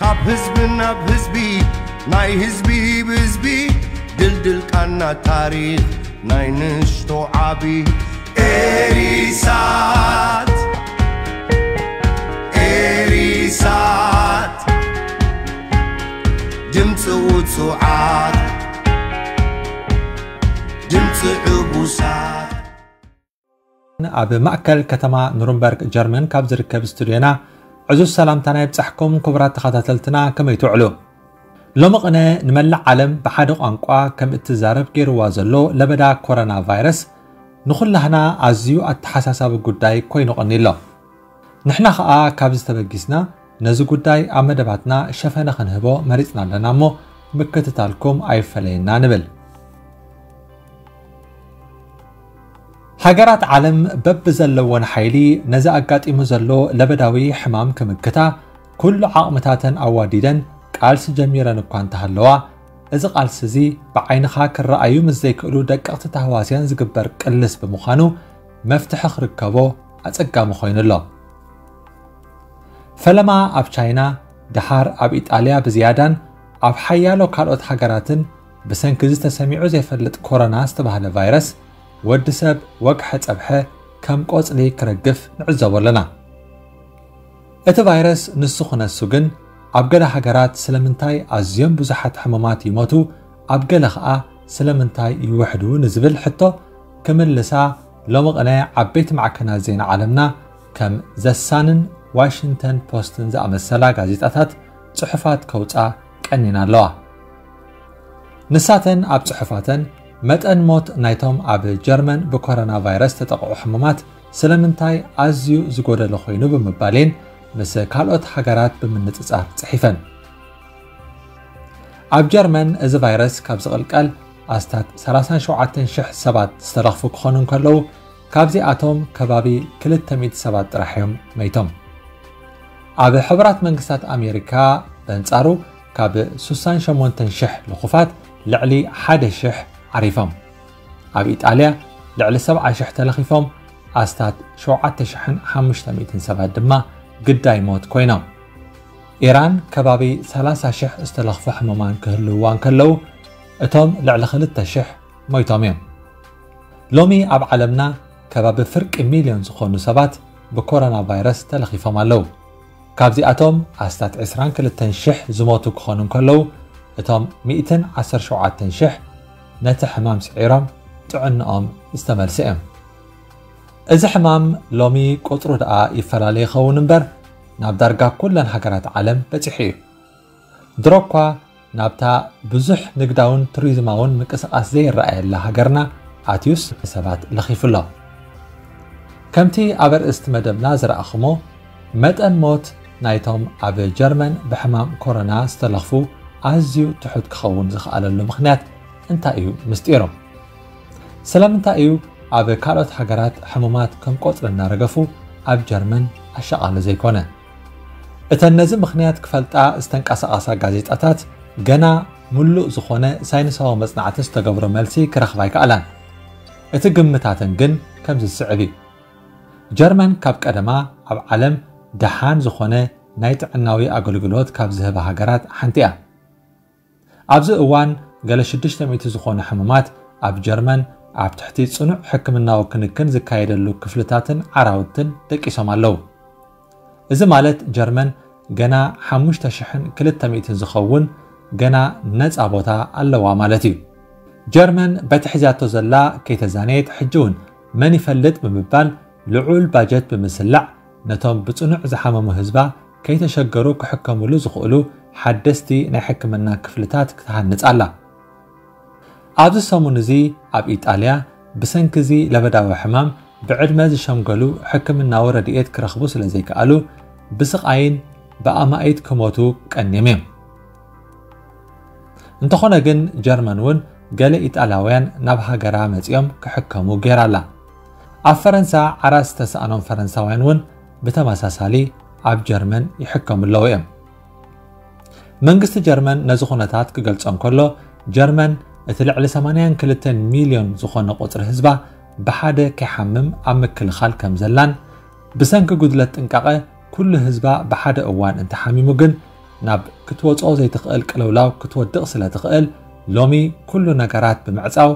ካብ ህዝቢ ናብ ህዝቢ፣ ናይ ህዝቢ ብህዝቢ፣ ድልድል ቃና ታሪኽ ናይ ንእሽቶ ዓቢ። ኤሪሳት፣ ኤሪሳት፣ ድምፂ ውፁዓት፣ ድምፂ ዕቡሳት። ኣብ ማእከል ከተማ ኑርንበርግ ጀርመን ካብ ዝርከብ ስቱድዮና ዕዙዝ ሰላምታና ይብጻሕኩም ክቡራት ተኸታተልትና፣ ከመይ ትውዕሉ? ሎሚ ቅነ ንመላእ ዓለም ብሓደ ቋንቋ ከም እትዛረብ ገይርዋ ዘሎ ለበዳ ኮሮና ቫይረስ ንኹላህና ኣዝዩ ኣተሓሳሳቢ ጉዳይ ኮይኑ ቀኒሎ። ንሕና ኸኣ ካብዚ ተበጊስና ነዚ ጉዳይ ኣብ መደባትና ሸፈነ ክንህቦ መሪጽና ኣለና እሞ ምክትታልኩም ኣይፈለየና ንብል። ሃገራት ዓለም በብዘለወን ሓይሊ ነዚ ኣጋጢሙ ዘሎ ለበዳዊ ሕማም ክምክታ ኩሉ ዓቕምታተን ኣዋዲደን ቃልሲ ጀሚረን እኳ እንተሃለዋ፣ እዚ ቃልሲ እዚ ብዓይንኻ ክረኣዩ ምስ ዘይክእሉ ደቀቕቲ ታህዋስያን ዝግበር ቅልስ ብምዃኑ መፍትሒ ክርከቦ ኣጸጋሚ ኮይኑ ኣሎ። ፈለማ ኣብ ቻይና፣ ደሓር ኣብ ኢጣልያ ብዝያዳን ኣብ ሓያሎ ካልኦት ሃገራትን ብሰንኪ እዚ ተሰሚዑ ዘይፈልጥ ኮሮና ዝተባህለ ቫይረስ ወዲ ሰብ ወግሐ ጸብሐ ከም ቆጽሊ ክረግፍ ንዕዘቦ ኣለና። እቲ ቫይረስ ንሱ ክነሱ ግን ኣብ ገለ ሃገራት ስለምንታይ ኣዝዮም ብዙሓት ሕሙማት ይሞቱ፣ ኣብ ገለ ኸኣ ስለምንታይ ይውሕዱ ንዝብል ሕቶ ክምልሳ ሎሚ ቅነ ዓበይቲ ማዕከናት ዜና ዓለምና ከም ዘሳንን ዋሽንግተን ፖስትን ዝኣመሰላ ጋዜጣታት ጽሑፋት ከውጻ ቀኒና ኣለዋ። ንሳተን ኣብ ጽሑፋተን መጠን ሞት ናይቶም ኣብ ጀርመን ብኮሮና ቫይረስ ተጠቕዑ ሕሙማት ስለምንታይ ኣዝዩ ዝጎደለ ኮይኑ ብምባል እየን ምስ ካልኦት ሃገራት ብምንጽጻር ጽሒፈን። ኣብ ጀርመን እዚ ቫይረስ ካብ ዝቕልቀል ኣስታት ሰላሳን ሸውዓተን ሽሕ ሰባት ዝተለኽፉ ክኾኑ እንከለዉ፣ ካብዚኣቶም ከባቢ ክልተ ሚእቲ ሰባት ጥራሕ እዮም መይቶም። ኣብ ሕቡራት መንግስታት ኣሜሪካ በንጻሩ ካብ ስሳን ሸሞንተን ሽሕ ልኹፋት ልዕሊ ሓደ ሽሕ ዓሪፎም። ኣብ ኢጣልያ ልዕሊ ሰብዓ ሽሕ ተለኺፎም፣ ኣስታት ሸውዓተ ሽሕን ሓሙሽተ ሚእትን ሰባት ድማ ግዳይ ሞት ኮይኖም። ኢራን ከባቢ ሰላሳ ሽሕ ዝተለኽፉ ሕሙማን ክህልውዋ እንከለዉ፣ እቶም ልዕሊ ክልተ ሽሕ ሞይቶም እዮም። ሎሚ ኣብ ዓለምና ከባቢ ፍርቂ ሚልዮን ዝኾኑ ሰባት ብኮሮና ቫይረስ ተለኺፎም ኣለዉ። ካብዚኣቶም ኣስታት ዕስራን ክልተን ሽሕ ዝሞቱ ክኾኑ እንከለዉ፣ እቶም ሚእትን ዓሰርተ ሸውዓተን ሽሕ ነቲ ሕማም ስዒሮም ጥዕንኦም ዝተመልሰ እዮም። እዚ ሕማም ሎሚ ቁጽሩ ደኣ ይፈላለ ይኸውን እምበር፣ ናብ ዳርጋ ኩለን ሃገራት ዓለም በጺሑ እዩ። ድሮ እኳ ናብታ ብዙሕ ንግዳውን ቱሪዝማውን ምንቅስቓስ ዘይረኣየላ ሃገርና ኣትዩስ ሰባት ለኺፉ ኣሎ። ከምቲ ኣብ ኣርእስቲ መደብና ዝረኣኹሞ፣ መጠን ሞት ናይቶም ኣብ ጀርመን ብሕማም ኮሮና ዝተለኽፉ ኣዝዩ ትሑት ክኸውን ዝኸኣለሉ ምኽንያት እንታይ እዩ ምስጢሩ? ስለምንታይ እዩ ኣብ ካልኦት ሃገራት ሕሙማት ከም ቆጽሊ እናረገፉ ኣብ ጀርመን ኣሻቓሊ ዘይኮነ? እተን ነዚ ምኽንያት ክፈልጣ ዝተንቀሳቐሳ ጋዜጣታት ገና ምሉእ ዝኾነ ሳይንሳዊ መጽናዕቲ ዝተገብሮ መልሲ ክረኽባ ኣይከኣላን። እቲ ግምታተን ግን ከምዚ ዝስዕብ እዩ። ጀርመን ካብ ቀደማ ኣብ ዓለም ደሓን ዝኾነ ናይ ጥዕናዊ ኣገልግሎት ካብ ዝህባ ሃገራት ሓንቲ እያ። ኣብዚ እዋን ገለ ሽዱሽተ ሚእቲ ዝኾኑ ሕሙማት ኣብ ጀርመን ኣብ ትሕቲ ጽኑዕ ሕክምናዊ ክንክን ዝካየደሉ ክፍልታትን ዓራውትን ደቂሶም ኣለዉ። እዚ ማለት ጀርመን ገና ሓሙሽተ ሽሕን ክልተ ሚእትን ዝኸውን ገና ነጻ ቦታ ኣለዋ ማለት እዩ። ጀርመን በቲ ሒዛቶ ዘላ ከይተዛነየት ሕጂ እውን መን ይፈልጥ ብምባል ልዑል ባጀት ብምስላዕ ነቶም ብጽኑዕ ዝሓመሙ ህዝባ ከይተሸገሩ ክሕከምሉ ዝኽእሉ ሓደስቲ ናይ ሕክምና ክፍልታት ክትሃንጽ ኣላ። ኣብዚ ሰሙን እዚ ኣብ ኢጣልያ ብሰንኪ እዚ ለበዳዊ ሕማም ብዕድመ ዝሸምገሉ ሕክምናዊ ረድኤት ክረኽቡ ስለ ዘይከኣሉ ብስቓይን ብኣማኢት ክሞቱ ቀንዮም እዮም። እንተኾነ ግን ጀርመን እውን ገለ ኢጣልያውያን ናብ ሃገራ መጺኦም ክሕከሙ ገይራ ኣላ። ኣብ ፈረንሳ ዓራት ዝተሳእኖም ፈረንሳውያን እውን ብተመሳሳሊ ኣብ ጀርመን ይሕከሙ ኣለዉ እዮም። መንግስቲ ጀርመን ነዚ ኩነታት ክገልጾ እንከሎ፣ ጀርመን እቲ ልዕሊ ሰማንያን ክልተን ሚልዮን ዝኾነ ቁጽሪ ህዝባ ብሓደ ከይሓምም ኣብ ምክልኻል ከም ዘላን፣ ብሰንኪ ጉድለት ጥንቃቐ ኩሉ ህዝባ ብሓደ እዋን እንተሓሚሙ ግን ናብ ክትወፅኦ ዘይትኽእል ቅልውላው ክትወድቕ ስለ ትኽእል፣ ሎሚ ኩሉ ነገራት ብምዕፃው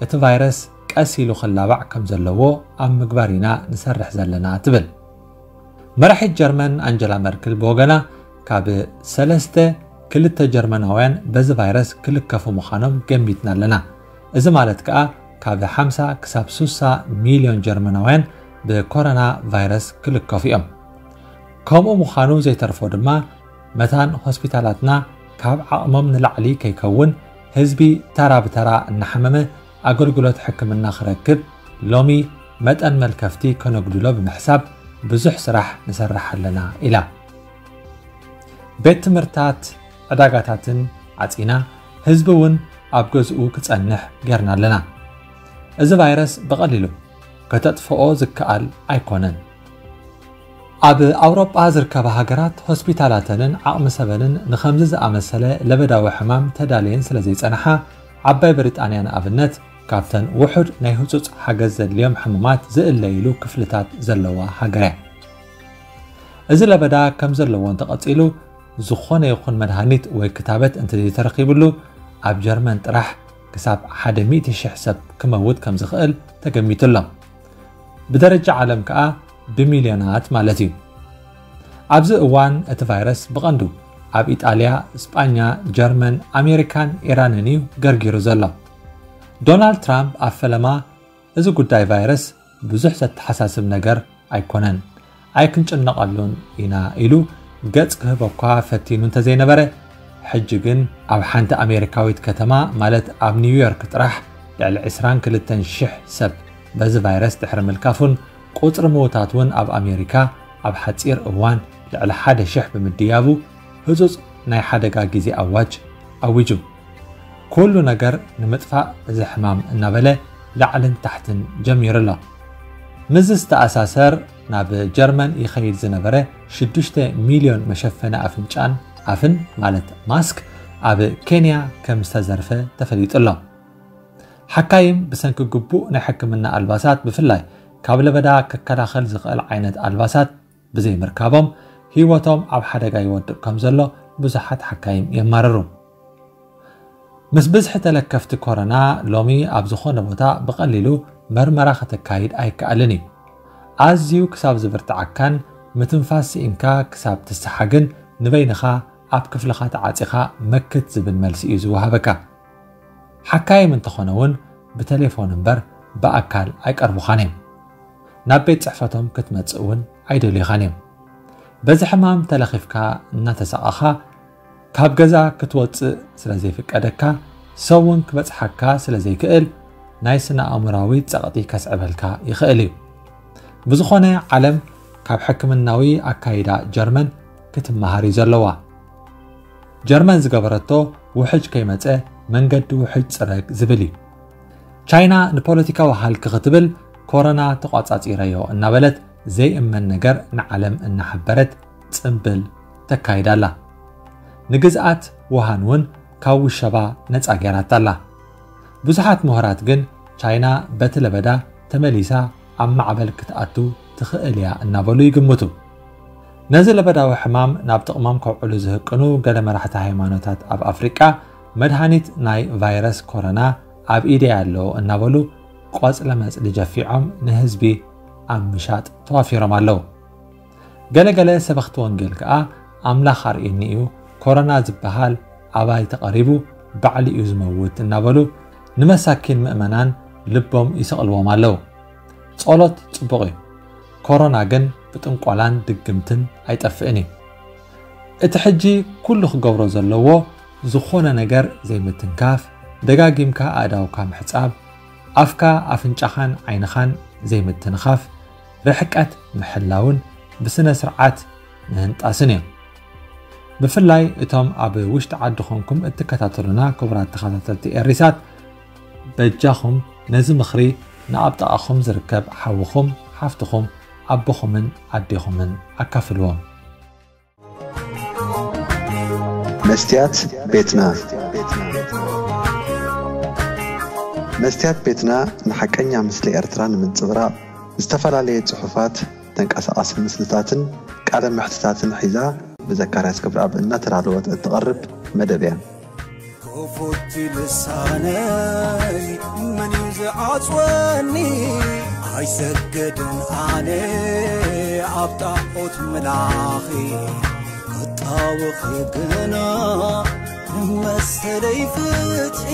እቲ ቫይረስ ቀስ ኢሉ ክላባዕ ከም ዘለዎ ኣብ ምግባር ኢና ንሰርሕ ዘለና ትብል። መራሒት ጀርመን ኣንጀላ መርክል ብወገና፣ ካብ ሰለስተ ክልተ ጀርመናውያን በዚ ቫይረስ ክልከፉ ምዃኖም ገሚትና ኣለና። እዚ ማለት ከኣ ካብ ሓምሳ ክሳብ ስሳ ሚልዮን ጀርመናውያን ብኮሮና ቫይረስ ክልከፉ እዮም። ከምኡ ምዃኑ ዘይተርፎ ድማ መታን ሆስፒታላትና ካብ ዓቕሞም ንላዕሊ ከይከውን ህዝቢ ተራ ብተራ እናሓመመ ኣገልግሎት ሕክምና ክረክብ ሎሚ መጠን መልከፍቲ ከነጉድሎ ብምሕሳብ ብዙሕ ስራሕ ንሰርሕ ኣለና ኢላ። ቤት ትምህርታት፣ ዕዳጋታትን ዓጺና ህዝቢ እውን ኣብ ገዝኡ ክጸንሕ ጌርና ኣለና። እዚ ቫይረስ ብቐሊሉ ከተጥፍኦ ዝከኣል ኣይኮነን። ኣብ ኣውሮጳ ዝርከባ ሃገራት ሆስፒታላተንን ዓቕሚ ሰበንን ንኸምዚ ዝኣመሰለ ለበዳዊ ሕማም ተዳልየን ስለ ዘይጸንሓ፣ ዓባይ ብሪጣንያ ንኣብነት ካብተን ውሑድ ናይ ህጹጽ ሓገዝ ዘድልዮም ሕሙማት ዝእለይሉ ክፍልታት ዘለዋ ሃገር እያ። እዚ ለበዳ ከም ዘለዎ እንተቐጺሉ፣ ዝኾነ ይኹን መድሃኒት ወይ ክታበት እንተዘይተረኺብሉ፣ ኣብ ጀርመን ጥራሕ ክሳብ ሓደ ሚእቲ ሽሕ ሰብ ክመውት ከም ዝኽእል ተገሚቱ ኣሎ። ብደረጃ ዓለም ከኣ ብሚልዮናት ማለት እዩ። ኣብዚ እዋን እቲ ቫይረስ ብቐንዱ ኣብ ኢጣልያ፣ ስጳኛ፣ ጀርመን፣ ኣሜሪካን ኢራንን እዩ ገርጊሩ ዘሎ። ዶናልድ ትራምፕ ኣብ ፈለማ፣ እዚ ጉዳይ ቫይረስ ብዙሕ ዘተሓሳስብ ነገር ኣይኮነን፣ ኣይክንጭነቐሉን ኢና ኢሉ ገጽ ክህበኳ ፈቲኑ እንተዘይነበረ፣ ሕጂ ግን ኣብ ሓንቲ ኣሜሪካዊት ከተማ፣ ማለት ኣብ ኒውዮርክ ጥራሕ፣ ልዕሊ ዕስራን ክልተን ሽሕ ሰብ በዚ ቫይረስ ድሕሪ ምልካፉን ቁጽሪ ምዉታት እውን ኣብ ኣሜሪካ ኣብ ሓጺር እዋን ልዕሊ ሓደ ሽሕ ብምድያቡ፣ ህጹጽ ናይ ሓደጋ ግዜ ኣዋጅ ኣዊጁ። ኩሉ ነገር ንምጥፋእ እዚ ሕማም እናበለ ላዕልን ታሕትን ጀሚሩ ኣሎ። ምስዚ ዝተኣሳሰር፣ ናብ ጀርመን ይኸይድ ዝነበረ ሽዱሽተ ሚልዮን መሸፈኒ ኣፍንጫን ኣፍን፣ ማለት ማስክ፣ ኣብ ኬንያ ከም ዝተዘርፈ ተፈሊጡ ኣሎ። ሓካይም ብሰንኪ ግቡእ ናይ ሕክምና ኣልባሳት፣ ብፍላይ ካብ ለበዳ ክከላኸል ዝኽእል ዓይነት ኣልባሳት ብዘይምርካቦም፣ ህይወቶም ኣብ ሓደጋ ይወድቕ ከም ዘሎ ብዙሓት ሓካይም የማርሩ። ምስ ብዝሒ ተለከፍቲ ኮሮና፣ ሎሚ ኣብ ዝኾነ ቦታ ብቐሊሉ መርመራ ከተካይድ ኣይከኣልን እዩ። ኣዝዩ ክሳብ ዝብርትዓካን ምትንፋስ ስኢንካ ክሳብ ትሰሓግን፣ ንበይንኻ ኣብ ክፍልኻ ተዓጺኻ መክት ዝብል መልሲ እዩ ዝወሃበካ። ሓካይም እንተኾነ እውን ብቴሌፎን እምበር ብኣካል ኣይቀርቡኻን እዮም። ናብ ቤት ጽሕፈቶም ክትመጽእ እውን ኣይደልዩኻን እዮም። በዚ ሕማም ተለኺፍካ እናተሳቐኻ፣ ካብ ገዛ ክትወጽእ ስለ ዘይፍቀደካ፣ ሰብ እውን ክበጽሓካ ስለ ዘይክእል፣ ናይ ስነ ኣእምሮኣዊ ጸቕጢ ከስዕበልካ ይኽእል እዩ። ብዝኾነ፣ ዓለም ካብ ሕክምናዊ ኣካይዳ ጀርመን ክትመሃር እዩ ዘለዋ። ጀርመን ዝገበረቶ፣ ውሕጅ ከይመጸ መንገዲ ውሕጅ ጽረግ ዝብል እዩ። ቻይና ንፖለቲካዊ ሃልኪ ክትብል፣ ኮሮና ተቋጻጺረዮ እናበለት ዘይእመን ነገር ንዓለም እናሓበረት ጽምብል ተካይድ ኣላ። ንግዝኣት ውሃን እውን ካብ ውሸባ ነጻ ገይራታ ኣላ። ብዙሓት ምሁራት ግን፣ ቻይና በቲ ለበዳ ተመሊሳ ኣብ ማዕበል ክትኣቱ ትኽእል እያ እናበሉ ይግምቱ። ነዚ ለበዳዊ ሕማም ናብ ጥቕሞም ከውዕሉ ዝህቅኑ ገለ መራሕቲ ሃይማኖታት ኣብ ኣፍሪቃ፣ መድሃኒት ናይ ቫይረስ ኮሮና ኣብ ኢደይ ኣሎ እናበሉ፣ ቆጽለ መጽሊ ጀፊዖም ንህዝቢ ኣብ ምሻጥ ተዋፊሮም ኣለዉ። ገለገለ ሰበኽቲ ወንጌል ከኣ፣ ኣምላኽ ኣርእየኒ እዩ፣ ኮሮና ዝበሃል ኣባይ ተቐሪቡ፣ ባዕሉ እዩ ዝመውት እናበሉ፣ ንመሳኪን ምእመናን ልቦም ይሰቕልዎም ኣለዉ። ጸሎት ጽቡቕ እዩ። ኮሮና ግን ብጥንቆላን ድግምትን ኣይጠፍእን እዩ። እቲ ሕጂ ኩሉ ክገብሮ ዘለዎ፣ ዝኾነ ነገር ዘይምትንካፍ፣ ደጋጊምካ ኣእዳውካ ምሕጻብ፣ ኣፍካ፣ ኣፍንጫኻን ዓይንኻን ዘይምትንኻፍ፣ ርሕቀት ምሕላውን ብስነ ስርዓት ምህንጣስን እዮም። ብፍላይ እቶም ኣብ ውሽጢ ዓዲ ኾንኩም እትከታተሉና ክቡራት ተኸታተልቲ ኤሪሳት፣ በጃኹም ነዚ ምኽሪ ንኣብ ጥቓኹም ዝርከብ ሓውኹም፣ ሓፍትኹም፣ ኣቦኹምን ኣዴኹምን ኣካፍልዎም። መስትያት ቤትና። መስትያት ቤትና ንሓቀኛ ምስሊ ኤርትራ ንምንጽብራቕ፣ ዝተፈላለየ ጽሑፋት፣ ተንቀሳቓሲ ምስልታትን ቃለ መሕትታትን ሒዛ ብዘካርያስ ክብረኣብ እናተዳለወት እትቐርብ መደብ እያ። ክፉት ልሳነይ መን እዩ ዝዓጽወኒ? ኣይሰገድን ኣነ ኣብ ጣዖት ምላኺ ክጣወኺ ግና መሰለይ ፍትሒ